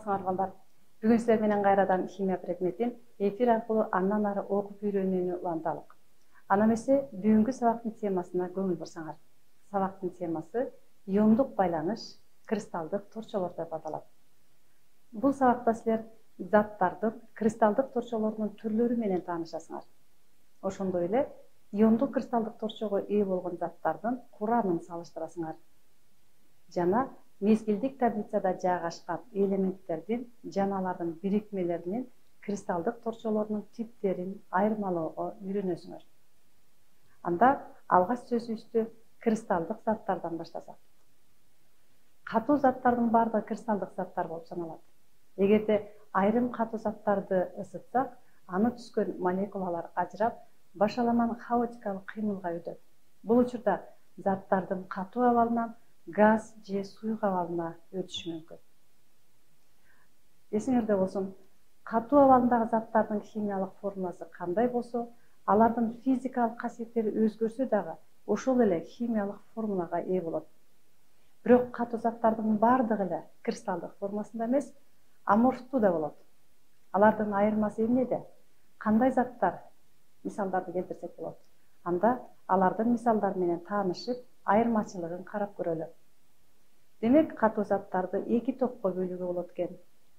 саламатсыңар балдар. Бүгүн силер менен кайрадан химия предметин эфир аркылуу андан ары окуп үйрөнүүнү уланталык. Ана эмесе бүгүнкү сабактын темасына көңүл бурсаңар. Сабактын темасы иондук байланыш, кристалдык торчолор деп аталат. Бул сабакта силер заттардын кристалдык торчолорунун түрлөрү менен таанышасыңар. Ошондой эле иондук кристалдык торчого ээ болгон заттардын курамын салыштырасыңар. Жана мезгилдик таблицада жайгашкан элементтердин жана алардын бирикмелеринин кристалдык торчолорунун типтерин айырмалоого үйрөнөсүңөр. Анда алгач сөзүбүздү кристалдык заттардан баштасак. Катуу заттардын баардыгы кристалдык заттар болуп саналат. Эгерде айрым катуу заттарды ысытсак, аны түзгөн молекулалар ажырап, башаламан хаотикалык кыймылга өтөт. Бул учурда заттардын катуу абалынан газ же суюк абалына өтүшү мүмкүн. Эсиңерде болсун, катуу абалындагы заттардын химиялык формуласы кандай болсо, алардын физикалык касиеттери өзгөрсө дагы ошол эле химиялык формулага ээ болот. Бирок катуу заттардын баардыгы эле кристалдык формасында эмес, аморфтуу да болот. Алардын айырмасы эмнеде? Кандай заттар? Мисалдарды келтирсек болот. Анда алардын мисалдары менен таанышып, айырмачылыгын карап көрөлү. Демек, катуу заттарды эки топко бөлүүгө болот экен.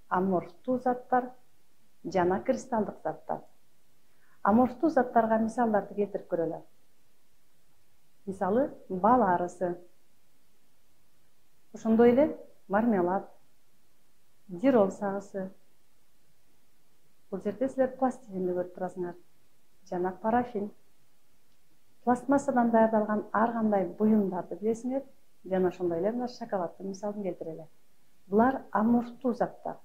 Аморфтуу заттар жана кристалдык заттар. Аморфтуу заттарга мисалдарды келтирип көрөлү. Мисалы, бал арысы. Ошондой эле мармелад, дирол сагысы. Бул жерде силер пластилинди көрүп турасыңар. Жана парафин. Пластмассадан даярдалган ар кандай буюмдарды билесиңер, жана ошондой эле мына шоколаддын мисалын келтирели. Булар аморфтуу заттар.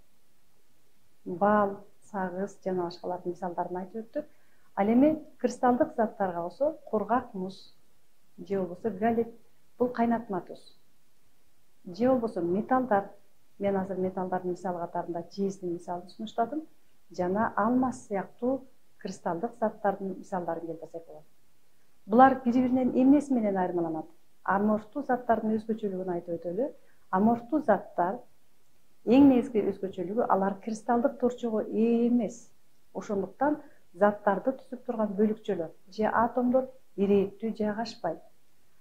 Бал, сагыз жана башкалардын мисалдарын айтып өттүк. Ал эми кристалдык заттарга болсо кургак муз же болбосо галит, бул кайнатма туз. Же болбосо металлдар. Мен азыр металлдардын мисалы катарында жездин мисалын сунуштадым. Жана алмаз сыяктуу кристалдык заттардын мисалдарын келтирсек болот. Булар бири-биринен эмнеси менен айырмаланат? Аморфтуу заттардын өзгөчөлүгүн айтып өтөлү. Аморфтуу заттар эң негизги өзгөчөлүгү алар кристалдык торчого ээ эмес. Ошондуктан заттарды түзүп турган бөлүкчөлөр же атомдор ирээттүү жайгашпайт.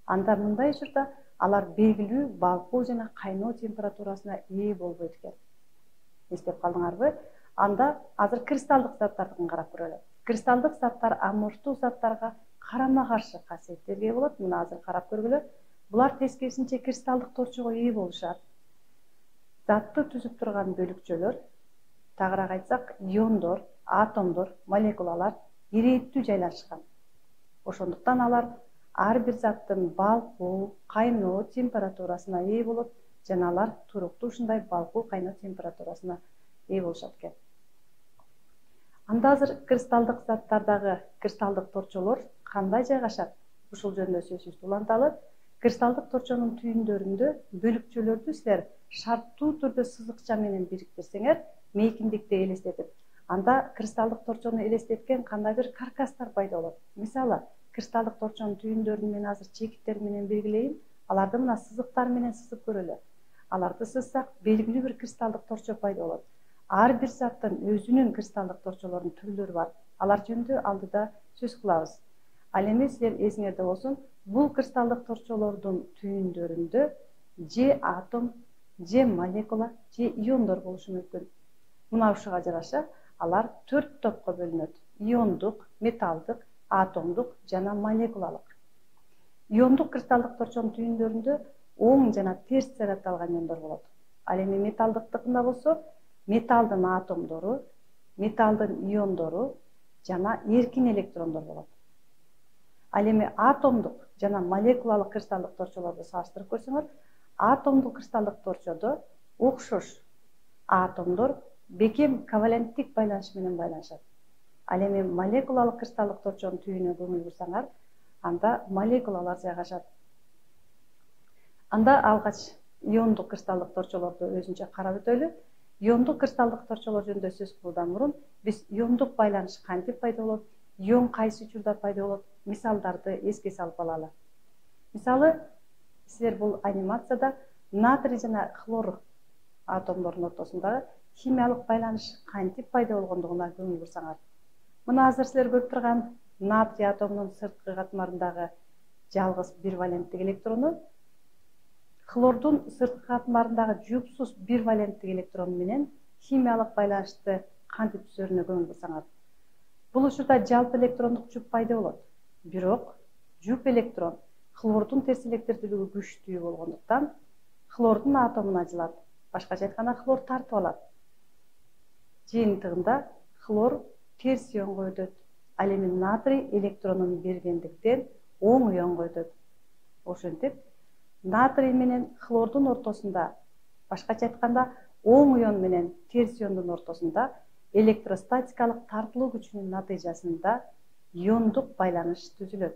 Анда мындай учурда алар белгилүү балкуу жана кайноо температурасына ээ болбойт экен. Эстеп калдыңарбы? Анда азыр кристалдык заттардын карап көрөлү. Кристалдык заттар аморфтуу заттарга карама-каршы касиеттерге ээ болот. Мына азыр карап көргүлө. Булар тескерисинче кристалдык торчого ээ болушат. Затты түзүп турган бөлүкчөлөр, тагыраак айтсак, иондор, атомдор, молекулалар ирээттүү жайлашкан. Ошондуктан алар ар бир заттын балкуу, кайноо температурасына ээ болот, жана алар туруктуу ушундай балкуу, кайноо температурасына ээ болушат экен. Анда азыр кристалдык заттардагы кристалдык торчолор кандай жайгашат? Ушул жөнүндө сөзүбүздү уланталы. Кристалдык торчонун түйүндөрүндө бөлүкчөлөрдү силер шарттуу түрдө сызыкча менен бириктирсеңер, мейкиндикти элестетип, анда кристалдык торчону элестеткен кандайдыр каркастар пайда болот. Мисалы, кристалдык торчонун түйүндөрүн мен азыр чекиттер менен белгилейин, аларды мына сызыктар менен сызып көрөлү. Аларды сызсак, белгилүү бир кристалдык торчо пайда болот. Ар бир заттын өзүнүн кристалдык торчолорунун түрлөрү бар. Алар жөнүндө алдыда сөз кылабыз. Ал эми силер эсиңерде болсун, бул кристалдык торчолордун түйүндөрүндө же атом, же молекула, же иондор болушу мүмкүн. Мына ушуга жараша алар 4 топко бөлүнөт. Иондук, металдык, атомдук жана молекулалык. Иондук кристалдык торчонун түйүндөрүндө оң жана терс заряддалган иондор болот. Ал эми металдыктыкында болсо металдын атомдору, металдын иондору жана эркин электрондор болот. Ал эми атомдук жана молекулалык кристалдык торчолорду салыштырып көрсөңөр, атомдук кристалдык торчодо окшош атомдор бекем коваленттик байланыш менен байланышат. Ал эми молекулалык кристалдык торчонун түйүнүнө көңүл бурсаңар, анда молекулалар жайгашат. Анда алгач иондук кристалдык торчолорду өзүнчө карап өтөлү. Иондук кристалдык торчолор жөнүндө сөз кылуудан мурун биз иондук байланыш кантип пайда болот, ион кайсы учурда пайда болот, мисалдарды эске салып алалы. Мисалы, силер бул анимацияда натрий жана хлор атомдордун ортосундагы химиялык байланыш кантип пайда болгондугуна көңүл бурсаңар. Мына азыр силер көрүп турган натрий атомунун сырткы катмарындагы жалгыз бир валенттик электрону хлордун сырткы катмарындагы жупсуз бир валенттик электрону менен химиялык байланышты кантип түзөрүнө көңүл бурсаңар. Бул учурда жалпы электрондук жуп пайда болот. Бирок жуп электрон хлордун терс электирдүүлүгү күчтүү болгондуктан хлордун атомуна жылат. Башкача айтканда хлор тартып алат. Жыйынтыгында хлор терс ионго өтөт. Ал эми натрий электронун бергендиктен оң ионго өтөт. Ошентип, натрий менен хлордун ортосунда, башкача айтканда, оң ион менен терс иондун ортосунда электростатикалык тартылуу күчүнүн натыйжасында иондук байланыш түзүлөт.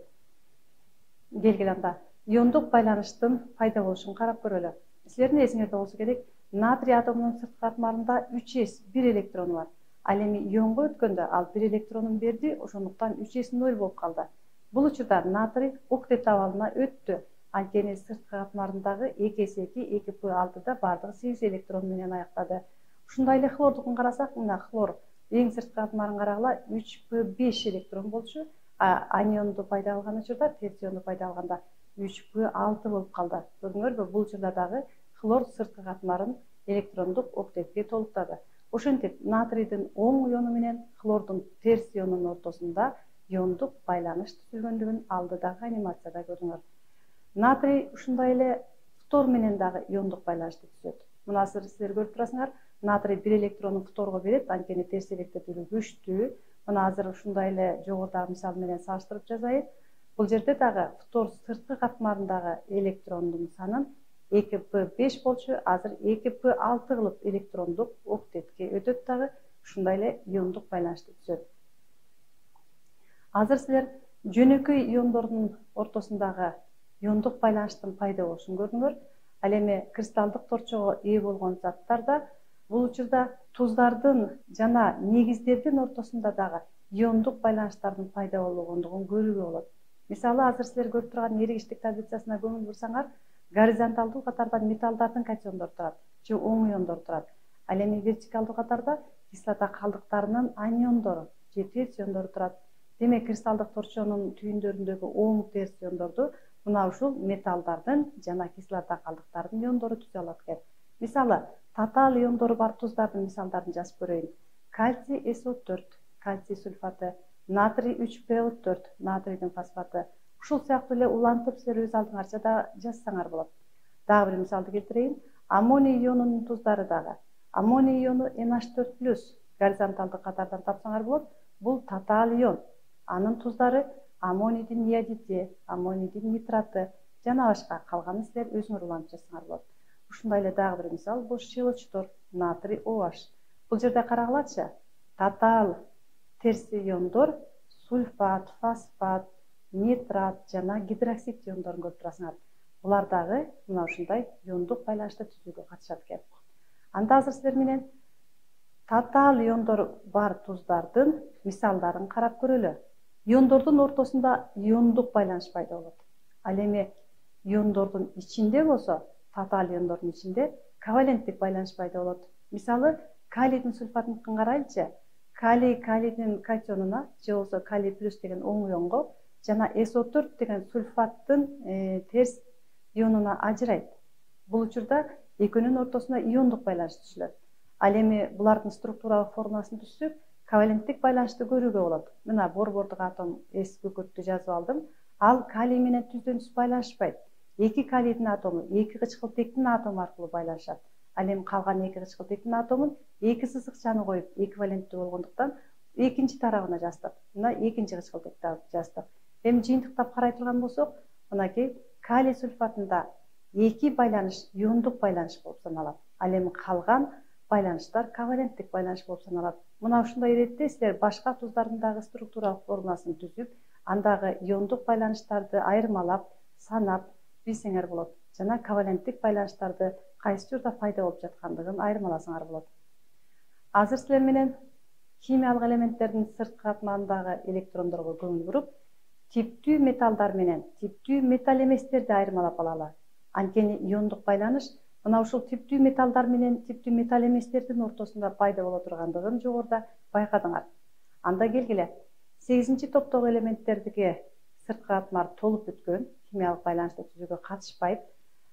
Келгиле анда иондук байланыштын пайда болушун карап көрөлү. Силердин эсиңерде болсо керек, натрий атомунун сырткы катмарында 3s бир электрону бар. Ал эми ионго өткөндө ал бир электронун берди, ошондуктан 3s 0 болуп калды. Бул учурда натрий октет абалына өттү. Анткени сырткы катмарындагы 2s2 2p6да бардыгы 8 электрон менен аяктады. Ушундай эле хлордукун карасак, мына хлор эң сырткы катмарын карагыла 3p5 электрон болчу, анионду пайда алган учурда, терс ионду пайда алганда 3p6 болуп калды. Көрдүңөрбү, бул учурда дагы хлор сырткы катмарын электрондук октетке толуктады. Ошентип, натрийдин оң иону менен хлордун терс ионунун ортосунда иондук байланыш түзүлгөндүгүн алдыдагы анимацияда көрдүңөр. Натрий ушундай эле фтор менен дагы иондук байланышты түзөт. Мына силер көрүп турасыңар, натрий бир электронун фторго берет, анткени терс электирдүүлүгү күчтүү. Мына азыр ушундай эле жогорудагы мисал менен салыштырып жазайын. Бул жерде дагы фтор сырткы катмарындагы электрондун санын 2p5 болчу, азыр 2p6 кылып электрондук октетке өтөт дагы, ушундай эле иондук байланышты түзөт. Азыр силер жөнөкөй иондордун ортосундагы иондук байланыштын пайда болушун көрдүңөр. Ал эми кристалдык торчого ээ болгон заттарда бул учурда туздардын жана негиздердин ортосунда дагы иондук байланыштардын пайда болгондугун көрүүгө болот. Мисалы, азыр силер көрүп турган эригиштик таблицасына көңүл бурсаңар, горизонталдуу катарда металлдардын катиондору турат, же оң иондору турат. Ал эми вертикалдуу катарда кислота калдыктарынын аниондору же терс иондору турат. Демек, кристалдык торчонун түйүндөрүндөгү оң терс иондорду мына ушул металлдардын жана кислота калдыктарынын иондору түзө алат экен. Мисалы, татаал иондору бар туздардын мисалдарын жазып көрөйүн. Кальций SO4, кальций сульфаты, натрий 3PO4, натрийдин фосфаты. Ушул сыяктуу эле улантып силер өз алдыңарча да жазсаңар болот. Дагы бир мисалды келтирейин. Аммоний ионунун туздары дагы. Аммоний иону NH4+, горизонталдык катардан тапсаңар болот. Бул татаал ион. Анын туздары аммонийдин иодиди, аммонийдин нитраты жана башка. Калганын силер өзүңөр улантып жазсаңар болот. Ушундай эле дагы бир мисал, бул щелочтор, натрий OH. Бул жерде карагылачы, татаал терс иондор сульфат, фосфат, нитрат жана гидроксид иондорун көрүп турасыңар. Булар дагы мына ушундай иондук байланышты түзүүгө катышат экен. Анда азыр силер менен татаал иондор бар туздардын мисалдарын карап көрөлү. Иондордун ортосунда иондук байланыш пайда болот. Ал эми иондордун ичинде болсо, татаал иондордун ичинде коваленттик байланыш пайда болот. Мисалы, калийдин сульфатын карайлычы. Калийдин катионуна же болбосо калий плюс деген оң ионго жана SO4 деген сульфаттын терс ионуна ажырайт. Бул учурда экөөнүн ортосунда иондук байланыш түзүлөт. Ал эми булардын структуралык формуласын түзсөк, коваленттик байланышты көрүүгө болот. Мына борбордук атом S бөкөттү жазып алдым. Ал калий менен түздөн түз байланышпайт. Эки калийдин атому эки кычкылтектин атому аркылуу байланышат. Ал эми калган эки кычкылтектин атомун эки сызыкчаны коюп эквиваленттүү болгондуктан экинчи тарабына жаздык. Мына экинчи кычкылтекти жаздык. Эми жыйынтыктап карай турган болсок, мынакей калий сульфатында эки байланыш иондук байланыш болуп саналат. Ал эми калган байланыштар коваленттик байланыш болуп саналат. Мына ушундай иретте силер башка туздардын дагы структуралык формуласын түзүп, андагы иондук байланыштарды айырмалап, санап билсеңер болот. Жана коваленттик байланыштарды кайсы журда пайда болуп жаткандыгын айырмаласаңар болот. Азыр силер менен химиялык элементтердин сырткы катмарындагы электрондорго көңүл буруп, типтүү металлдар менен типтүү металл эместерди айырмалап алалы. Анткени иондук байланыш Мына ушул типтүү металлдар менен типтүү металл эместердин ортосунда пайда боло тургандыгын жогоруда байкадыңар. Анда келгиле 8-чи топтогу элементтердиги сырткы катмар толуп бүткөн, химиялык байланышты түзүүгө катышпайт.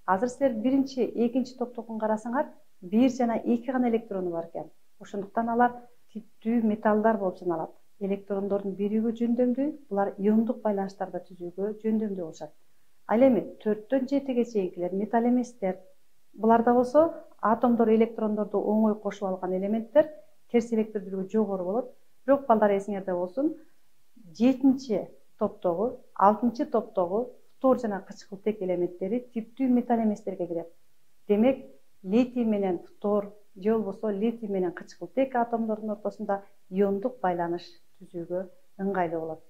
Азыр силер 1-чи, 2-чи топтогун карасаңар, 1 жана 2 гана электрону бар экен. Ошондуктан алар типтүү металлдар болуп саналат. Электрондордун биригүү жөндөмдүү, булар иондук байланыштарды түзүүгө жөндөмдүү болушат. Ал эми 4-төн 7-ге чейинкилер металл эместер. Буларда болсо атомдор электрондорду оңой кошуп алган элементтер, терс электрлүүлүгү жогору болот. Бирок балдар эсиңерде болсун, 7-чи топтогу, 6-чы топтогу фтор жана кычкылтек элементтери типтүү металл эместерге кирет. Демек, литий менен фтор же болбосо литий менен кычкылтек атомдордун ортосунда иондук байланыш түзүүгө ыңгайлуу болот.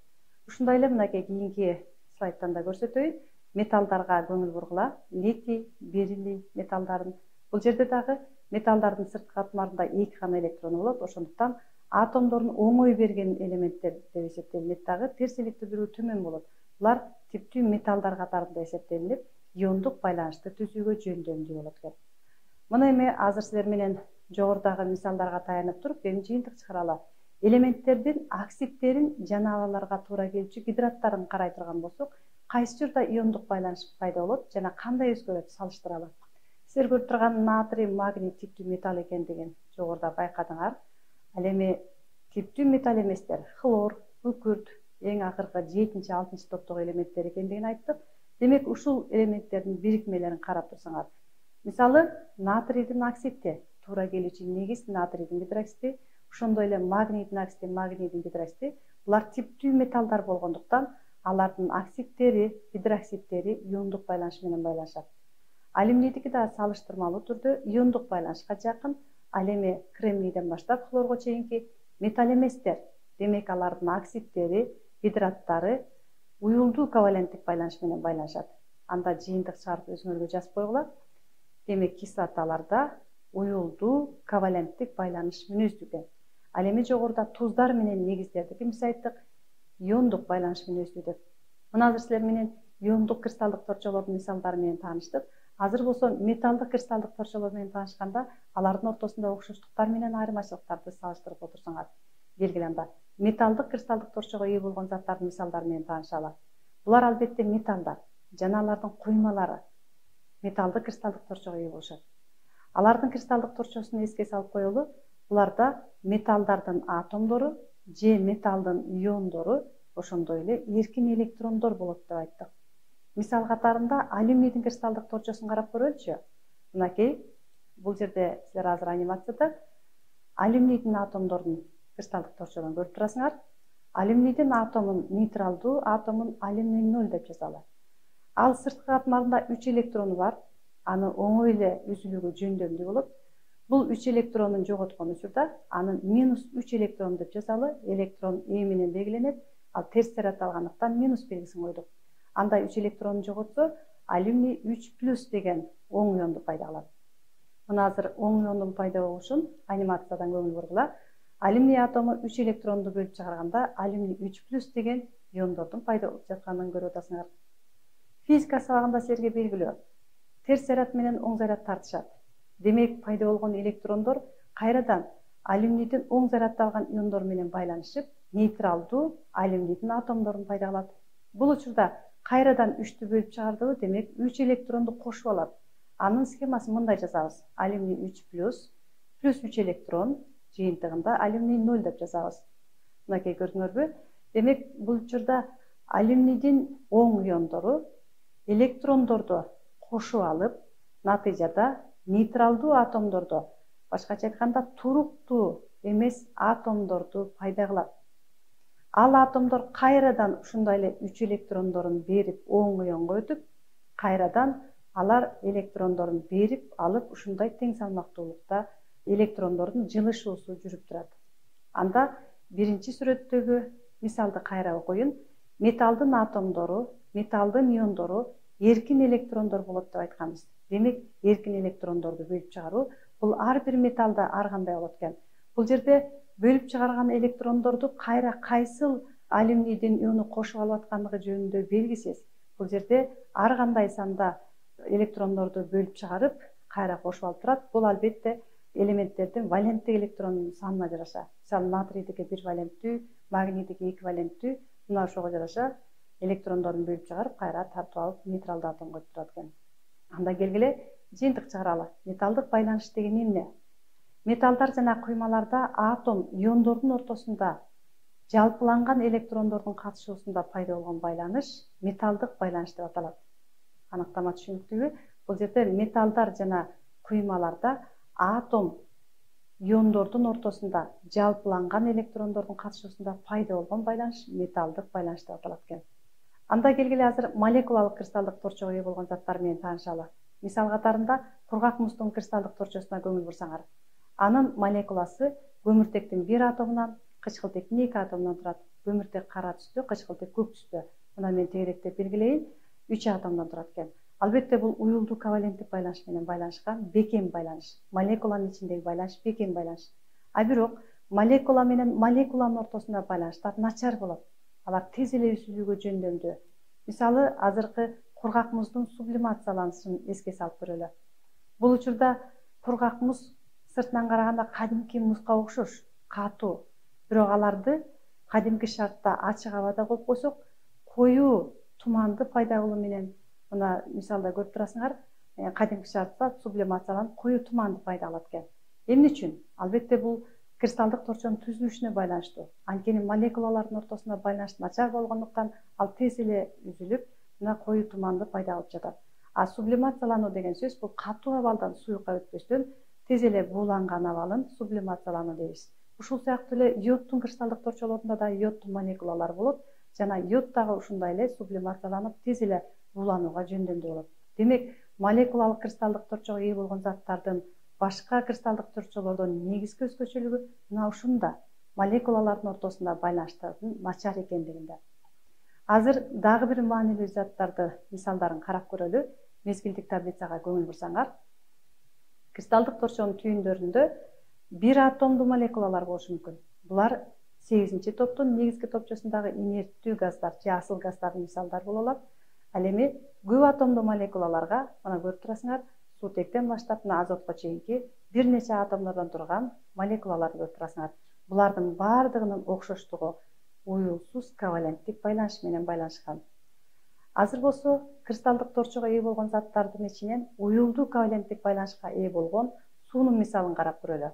Ушундай эле мынакей кийинки слайдтан да көрсөтөйүн. Металлдарга көңүл бургула. Литий, бериллий металлдарын. Бул жерде дагы металлдардын сырткы катмарында 2 гана электрону болот. Ошондуктан атомдордун оңой берген элементтер деп эсептелинет дагы, терс электрлүүлүгү төмөн болот. Булар типтүү металлдар катарында эсептелинип, иондук байланышты түзүүгө жөндөмдүү болот экен. Мына эми азыр силер менен жогорудагы мисалдарга таянып туруп, эми жыйынтык чыгаралы. Элементтердин оксидтерин жана аларга туура келчү гидраттарын карай турган болсок, кайсы учурда иондук байланыш пайда болот жана кандай өзгөрөт салыштыралы. Силер көрүп турган натрий, магний типтүү металл экендигин жогоруда байкадыңар. Ал эми типтүү металл эместер хлор, күкүрт, эң акыркы 7-чи, 6-чы топтогу элементтер экендигин айттык. Демек, ушул элементтердин бирикмелерин карап турсаңар, мисалы, натрийдин оксиди, туура келүүчү негиз натрийдин гидроксиди, ошондой эле магнийдин оксиди, магнийдин гидроксиди, булар типтүү металлдар болгондуктан алардын оксидтери, гидроксидтери иондук байланыш менен байланышат. Алюминийдики да салыштырмалуу түрдө иондук байланышка жакын. Ал эми кремнийден баштап хлорго чейинки металл эместер. Демек, алардын оксидтери, гидраттары уюлдуу коваленттик байланыш менен байланышат. Анда жыйынтык чыгарып өзүңөргө жазып койгула. Демек, кислоталарда уюлдуу коваленттик байланыш мүнөздүү экен. Ал эми жогоруда туздар менен негиздердики эмес айттык, иондук байланыш мүнөздүү деп. Мына азыр силер менен иондук кристалдык торчолордун мисалдары менен тааныштык. Азыр болсо металлдык кристалдык торчолор менен таанышканда, алардын ортосунда окшоштуктар менен айырмачылыктарды салыштырып отурсаңар. Белгиле анда металлдык кристалдык торчого ээ болгон заттардын мисалдары менен таанышалы. Булар албетте металлдар жана алардын куймалары металлдык кристалдык торчого ээ болушат. Алардын кристалдык торчосун эске салып коелу. Буларда металлдардын атомдору же металлдын иондору, ошондой эле эркин электрондор болот деп айттык. Мисал катарында алюминийдин кристалдык торчосун карап көрөлүчү. Мынакей, бул жерде силер азыр анимацияда алюминийдин атомдордун кристалдык торчолорун көрүп турасыңар. Алюминийдин атомун нейтралдуу, атомун алюминий 0 деп жазалы. Ал сырткы катмарында 3 электрону бар. Аны оңой эле үзүлүүгө жөндөмдүү болот. Бул 3 электронун жоготкон учурда анын -3 электрон деп жазалы. Электрон Е менен белгиленет. Ал терс заряд алгандыктан минус белгисин койдук. Андай 3 электронун жоготсо, алюминий 3+ деген оң ионду пайда кылат. Мына азыр оң иондун пайда болушун анимациядан көңүл бургула. Алюминий атому 3 электронду бөлүп чыгарганда, алюминий 3+ деген иондордун пайда болуп жатканын көрүп атасыңар. Физика сабагында силерге белгилүү. Терс заряд менен оң заряд тартышат. Демек, пайда болгон электрондор кайрадан алюминийдин оң заряддалган иондор менен байланышып, нейтралдуу алюминийдин атомдорун пайда кылат. Бул учурда кайрадан 3тү бөлүп чыгардыбы, демек 3 электронду кошуп алат. Анын схемасын мындай жазабыз. Алюминий 3+ плюс 3 электрон жыйынтыгында алюминий 0 деп жазабыз. Мынакей көрдүңөрбү? Демек, бул учурда алюминийдин оң иондору электрондорду кошуп алып, натыйжада нейтралдуу атомдорду, башкача айтканда туруктуу эмес атомдорду пайда кылат. Ал атомдор кайрадан ушундай эле 3 электрондорун берип, оң ионго өтүп, кайрадан алар электрондорун берип алып, ушундай тең салмактуулукта электрондордун жылышуусу жүрүп турат. Анда биринчи сүрөттөгү мисалды кайра окуйун. Металлдын атомдору, металлдын иондору эркин электрондор болот деп айтканбыз. Демек, эркин электрондорду бөлүп чыгаруу бул ар бир металлда ар кандай болот экен. Бул жерде бөлүп чыгарган электрондорду кайра кайсыл алюминийдин иону кошуп алып аткандыгы жөнүндө белгисиз. Бул жерде ар кандай санда электрондорду бөлүп чыгарып, кайра кошуп алып турат. Бул албетте элементтердин валенттик электронунун санына жараша. Мисалы натрийдики 1 валенттүү, магнийтики 2 валенттүү, мына ошого жараша электрондорун бөлүп чыгарып, кайра тартып алып нейтралдуу атомго өтүп турат экен. Анда келгиле жыйынтык чыгаралы. Металдык байланыш деген эмне? Металлдар жана куймаларда атом иондордун ортосунда жалпыланган электрондордун катышуусунда пайда болгон байланыш металдык байланыш деп аталат. Аныктама түшүнүктүүбү? Бул жерде металлдар жана куймаларда атом иондордун ортосунда жалпыланган электрондордун катышуусунда пайда болгон байланыш металдык байланыш деп аталат экен. Анда келгиле азыр молекулалык кристалдык торчого ээ болгон заттар менен таанышалы. Мисал катарында кургак муздун кристалдык торчосуна көңүл бурсаңар, анын молекуласы көмүртектин 1 атомунан, кычкылтектин 2 атомунан турат. Көмүртек кара түстө, кычкылтек көк түстө. Мына мен тегеректеп белгилейин, 3 атомдон турат экен. Албетте бул уюлдуу коваленттик байланыш менен байланышкан бекем байланыш. Молекуланын ичиндеги байланыш бекем байланыш. А бирок молекула менен молекуланын ортосунда байланыштар начар болот. Алар тез эле үзүлүүгө жөндөмдүү. Мисалы, азыркы кургак муздун сублимацияланышын эске салып көрөлү. Бул учурда кургак муз сыртынан караганда кадимки музга окшош, катуу. Бирок аларды кадимки шартта ачык абада коюп койсок, коюу туманды пайда болуу менен, мына мисалда көрүп турасыңар, кадимки шартта сублимацияланып коюу туманды пайда кылат экен. Эмне үчүн? Албетте бул кристалдык торчонун түзүлүшүнө байланыштуу. Анткени молекулалардын ортосунда байланыш начар болгондуктан ал тез эле үзүлүп, мына коюу туманды пайда кылып жатат. А сублимациялануу деген сөз бул катуу абалдан суюкка өтпөстөн тез эле бууланган абалын сублимациялануу дейбиз. Ушул сыяктуу эле йодтун кристалдык торчолорунда да йодтун молекулалар болот жана йод дагы ушундай эле сублимацияланып тез эле бууланууга жөндөмдүү болот. Демек, молекулалык кристалдык торчого ээ болгон заттардын башка кристалдык торчолордон негизги өзгөчөлүгү мына ушунда, молекулалардын ортосунда байланыштардын начар экендигинде. Азыр дагы бир маанилүү заттарды мисалдарын карап көрөлү. Мезгилдик таблицага көңүл бурсаңар, кристалдык торчонун түйүндөрүндө 1 атомдуу молекулалар болушу мүмкүн. Булар 8-чи топтун негизги топчосундагы инерттүү газдар, же асыл газдардын мисалдары боло алат. Ал эми көп атомдуу молекулаларга, мына көрүп турасыңар, суутектен баштап мына азотко чейинки бир нече атомдордон турган молекулаларды көрүп турасыңар. Булардын баардыгынын окшоштугу уюлсуз коваленттик байланыш менен байланышкан. Азыр болсо кристалдык торчого ээ болгон заттардын ичинен уюлдуу коваленттик байланышка ээ болгон суунун мисалын карап көрөлү.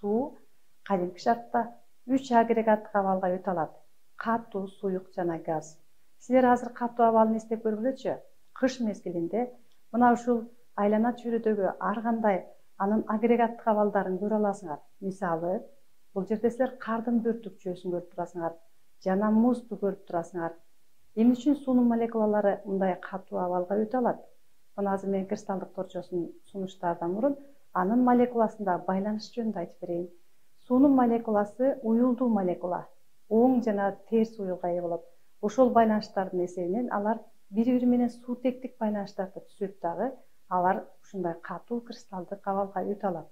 Суу кадимки шартта 3 агрегаттык абалга өтө алат: катуу, суюк жана газ. Силер азыр катуу абалын эстеп көргүлөчү. Кыш мезгилинде мына ушул айлана чөйрөдөгү ар кандай анын агрегаттык абалдарын көрө аласыңар. Мисалы, бул жерде силер кардын бөртүк жүйөсүн көрүп турасыңар жана музду көрүп турасыңар. Эмне үчүн суунун молекулалары мындай катуу абалга өтө алат? Мына азыр мен кристалдык торчосун сунуштаардан мурун анын молекуласындагы байланыш жөнүндө айтып берейин. Суунун молекуласы уюлдуу молекула, оң жана терс уюлга ээ болот. Ошол байланыштардын эсебинен алар бири-бири менен суутектик байланыштарды түзөт дагы, алар ушундай катуу кристалдык абалга өтө алат.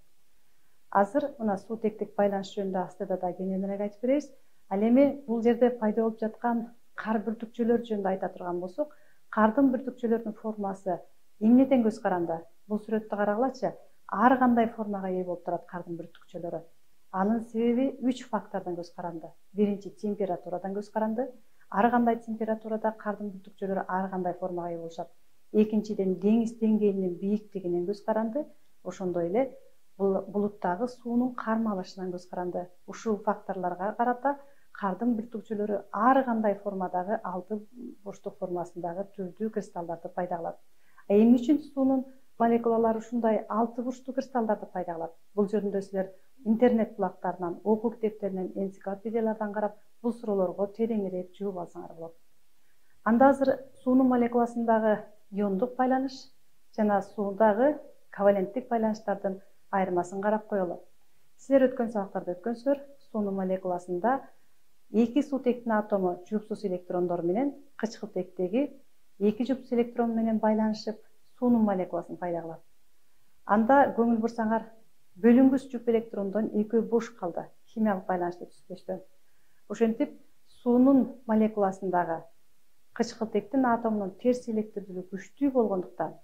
Азыр мына суутектик байланыш жөнүндө астыда да кененирээк айтып беребиз. Ал эми бул жерде пайда болуп жаткан кар бүртүкчөлөр жөнүндө айта турган болсок, кардын бүртүкчөлөрүнүн формасы эмнеден көз каранды? Бул сүрөттү карагылачы. Ар кандай формага ээ болуп турат кардын бүртүкчөлөрү. Анын себеби 3 фактордон көз каранды. Биринчи, температурадан көз каранды. Ар кандай температурада кардын бүртүкчөлөрү ар кандай формага ээ болушат. Экинчиден, деңиз деңгээлинин бийиктигинен көз каранды. Ошондой эле булуттагы суунун кармалышынан көз каранды. Ушул факторлорго карата кардын бүртүкчөлөрү ар кандай формадагы алты бурчтук формасындагы түрдүү кристалларды пайда кылат. Эмне үчүн суунун молекулалары ушундай алты бурчтуу кристалларды пайда кылат? Бул жөнүндө силер интернет булактарынан, окуу китептеринен, энциклопедиялардан карап, бул суроолорго тереңирээк жооп алсаңар болот. Анда азыр суунун молекуласындагы иондук байланыш жана суудагы коваленттик байланыштардын айырмасын карап коелу. Силер өткөн сабактарда өткөнсүздөр, суунун молекуласында эки суутектин атому жупсуз электрондор менен кычкылтектеги эки жупсуз электрон менен байланышып, суунун молекуласын пайда кылат. Анда көңүл бурсаңар, бөлүнгүч жуп электрондон экөө бош калды, химиялык байланышты түзбөстөн. Ошентип, суунун молекуласындагы кычкылтектин атомунун терс электрлүүлүгү күчтүү болгондуктан,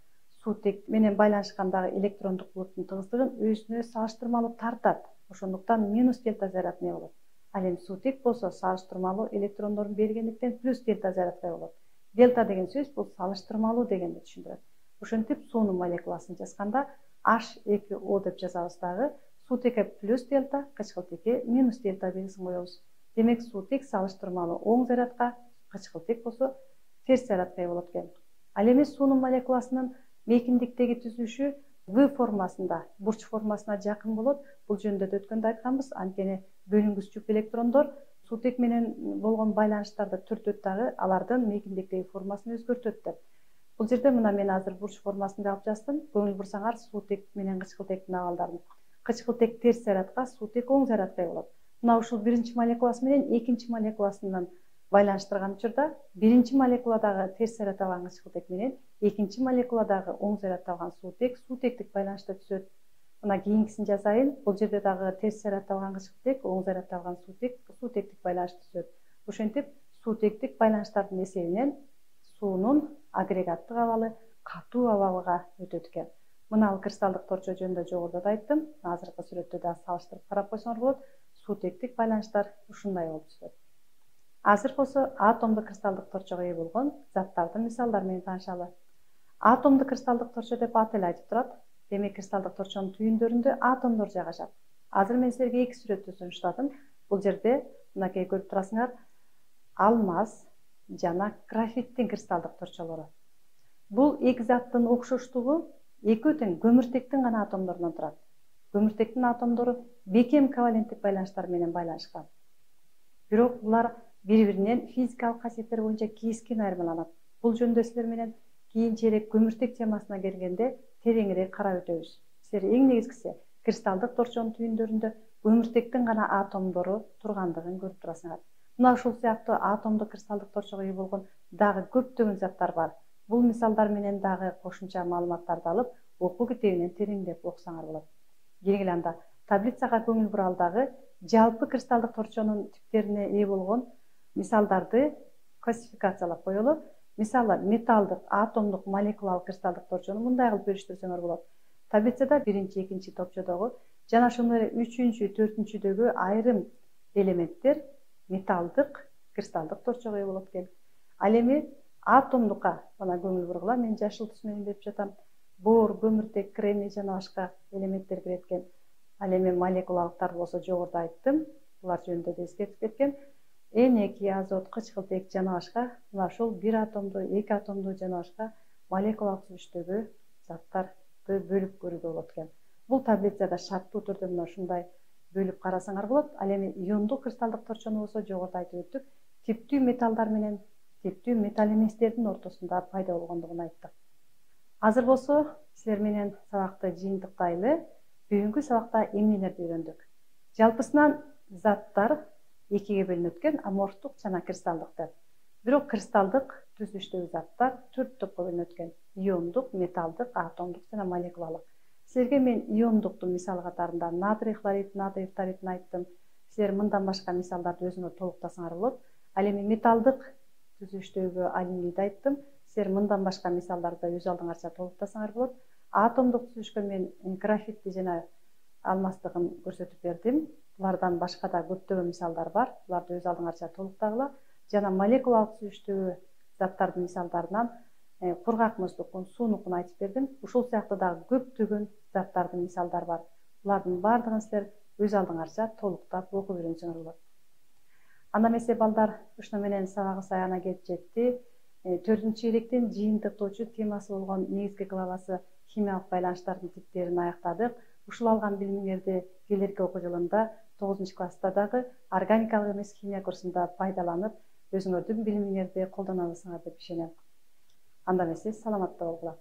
суутек менен байланышкандагы электрондук булуттун тыгыздыгын өзүнө салыштырмалуу тартат. Ошондуктан минус дельта заряд эмне болот. Ал эми суутек болсо салыштырмалуу электрондорун бергендиктен плюс дельта зарядка болот. Дельта деген сөз бул салыштырмалуу дегенди түшүндүрөт. Ошентип суунун молекуласын жазганда H2O деп жазабыз дагы. Суутекке плюс дельта, кычкылтекке минус дельта белгисин коебуз. Демек суутек салыштырмалуу оң зарядка, кычкылтек болсо терс зарядка болот экен. Ал эми суунун молекуласынын мейкиндиктеги түзүлүшү V формасында, бурч формасына жакын болот. Бул жөнүндө да өткөндө айтканбыз. Анткени бөлүнгүч жүп электрондор суутек менен болгон байланыштарды түртөт дагы, алардын мейкиндиктеги формасын өзгөртөт деп. Бул жерде мына мен азыр бурч формасын алып жаздым. Көңүл бурсаңар суутек менен кычкылтектин абалдарын. Кычкылтек терс зарядка, суутек оң зарядка болот. Мына ушул биринчи молекуласы менен экинчи молекуласынан байланыштырган учурда биринчи молекуладагы терс заряд алган кычкылтек менен экинчи молекуладагы оң заряд алган суутек суутектик байланышта түзөт. Мына кийинкисин жазайын. Бул жерде дагы терс заряд алган кычкылтек, оң заряд алган суутек суутектик байланышты түзөт. Ошентип суутектик байланыштардын эсебинен суунун агрегаттык абалы катуу абалга өтөт экен. Мына кристалдык торчо жөнүндө жогоруда да айттым. Азыркы сүрөттө да салыштырып карап койсоңор болот. Суутектик байланыштар ушундай болуп түзүлөт. Азыр болсо атомдук кристалдык торчого ээ болгон заттардын мисалдары менен таанышалы. Атомдук кристалдык торчо деп аты эле айтып турат. Демек кристалдык торчонун түйүндөрүндө атомдор жайгашат. Азыр мен силерге эки сүрөттү сунуштадым. Бул жерде мынакей көрүп турасыңар, алмаз жана графиттин кристалдык торчолору. Бул эки заттын окшоштугу экөө тең көмүртектин гана атомдорунан турат. Көмүртектин атомдору бекем коваленттик байланыштар менен байланышкан. Бирок булар бири-биринен физикалык касиеттери боюнча кескин айырмаланат. Бул жөнүндө силер менен кийинчерээк көмүртек темасына келгенде тереңирээк карап өтөбүз. Силер эң негизгиси кристалдык торчонун түйүндөрүндө көмүртектин гана атомдору тургандыгын көрүп турасыңар. Мына ушул сыяктуу атомдук кристалдык торчого ээ болгон дагы көптөгөн заттар бар. Бул мисалдар менен дагы кошумча маалыматтарды алып, окуу китебинен тереңдеп окусаңар болот. Кийинки анда таблицага көңүл буралдагы жалпы кристалдык торчонун типтерине ээ болгон мисалдарды классификациялап коелу. Мисалы, металдык, атомдук, молекулалык кристалдык торчону мындай кылып бөлүштүрсөңөр болот. Таблицада биринчи, экинчи топчодогу жана ошондой эле үчүнчү, төртүнчүдөгү айрым элементтер металдык кристалдык торчого ээ болот экен. Ал эми атомдукка мына көңүл бургула, мен жашыл түс менен берип жатам. Бор, көмүртек, кремний жана башка элементтер кирет экен. Ал эми молекулалыктар болсо жогоруда айттым. Булар жөнүндө да эскертип кеткем. N2, азот, кычкылтек жана башка мына ушул бир атомдуу, эки атомдуу жана башка молекулалык түзүлүштөгү заттарды бөлүп көрүүгө болот экен. Бул таблицада шарттуу түрдө мына ушундай бөлүп карасаңар болот. Ал эми иондук кристалдык торчону болсо жогоруда айтып өттүк. Типтүү металлдар менен типтүү металл эместердин ортосунда пайда болгондугун айттык. Азыр болсо силер менен сабакты жыйынтыктайлы. Бүгүнкү сабакта эмнелерди үйрөндүк? Жалпысынан заттар экиге бөлүнөт экен, аморфтук жана кристалдык деп. Бирок кристалдык түзүлүштөгү заттар 4 топко бөлүнөт экен. Иондук, металдык, атомдук жана молекулалык. Силерге мен иондуктун мисалы катарында натрий хлорид, натрий фторидин айттым. Силер мындан башка мисалдарды өзүңөр толуктасаңар болот. Ал эми металдык түзүлүштөгү алюминийди айттым. Силер мындан башка мисалдарды өз алдыңарча толуктасаңар болот. Атомдук түзүлүшкө мен графитти жана алмаздыгын көрсөтүп бердим. Булардан башка да көптөгөн мисалдар бар. Буларды өз алдыңарча толуктагыла. Жана молекулалык түзүлүштөгү заттардын мисалдарынан кургак муздукун, суунукун айтып бердим. Ушул сыяктуу дагы көптөгөн заттардын мисалдары бар. Булардын баардыгын силер өз алдыңарча толуктап окуп үйрөнсөңөр болот. Анда эмесе балдар, ушуну менен сабагыбыз аягына келип жетти. 4-чү электин жыйынтыктоочу темасы болгон негизги главасы химиялык байланыштардын типтерин аяктадык. Ушул алган билимиңерди келерки окуу жылында 9-класста дагы органикалык эмес химия курсунда пайдаланып, өзүңөрдүн билимиңерди колдоно аласыңар деп ишенем. Анда эмесе саламатта болгула.